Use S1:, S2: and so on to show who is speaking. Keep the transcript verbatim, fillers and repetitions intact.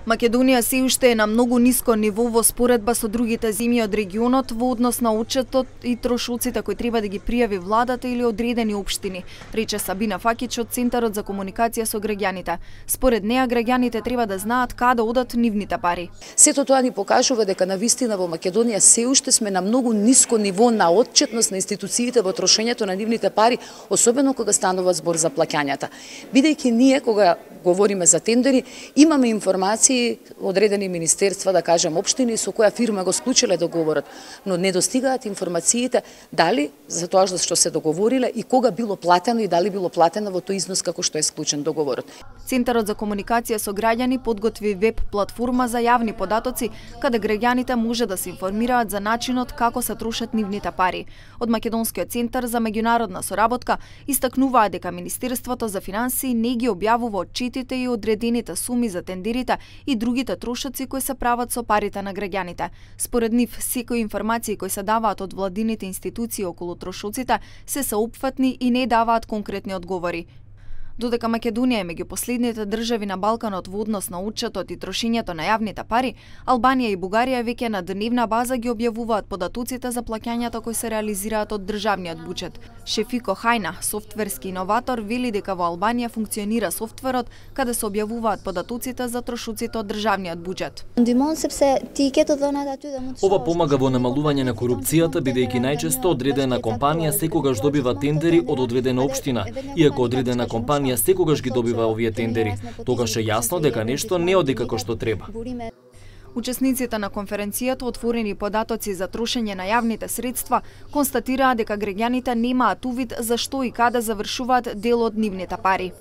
S1: Македонија се уште е на многу ниско ниво во споредба со другите земји од регионот во однос на отчетот и трошоците кои треба да ги пријави владата или одредени општини, рече Сабина Факич од Центарот за комуникација со граѓаните. Според неа, граѓаните треба да знаат каде одат нивните пари.
S2: Сето тоа ни покажува дека навистина во Македонија се уште сме на многу ниско ниво на отчетност на институциите во трошењето на нивните пари, особено кога станува збор за плаќањата. Бидејќи ние кога говориме за тендери, имаме информации одредени министерства, да кажем општини, со која фирма го склучиле договорот, но не достигаат информациите дали за тоа што се договориле и кога било платено и дали било платено во тој износ како што е склучен договорот.
S1: Центарот за комуникација со граѓани подготви веб платформа за јавни податоци, каде граѓаните може да се информираат за начинот како се трошат нивните пари. Од Македонскиот центар за меѓународна соработка истакнуваа дека Министерството за финансии не ги објавува отчетите и одредените суми за тендерите и другите трошоци кои се прават со парите на граѓаните. Според нив, секои информации кои се даваат од владините институции околу трошоците се сеопфатни и не даваат конкретни одговори. Додека Македонија е меѓу последните држави на Балканот во однос на отчетот и трошењето на јавните пари, Албанија и Бугарија веќе на дневна база ги објавуваат податоците за плаќањата кои се реализираат од државниот буџет. Шефико Хајна, софтверски иноватор, вели дека во Албанија функционира софтверот каде се објавуваат податоците за трошоците од државниот буџет.
S3: Ова помага во намалување на корупцијата, бидејќи најчесто одредена компанија секогаш добива тендери од одредена општина, иако одредена компанија секогаш ги добива овие тендери, тогаш е јасно дека нешто не оди како што треба.
S1: Учесниците на конференцијата отворени податоци за трошење на јавните средства констатираа дека граѓаните немаат увид за што и каде завршуваат дел од нивните пари.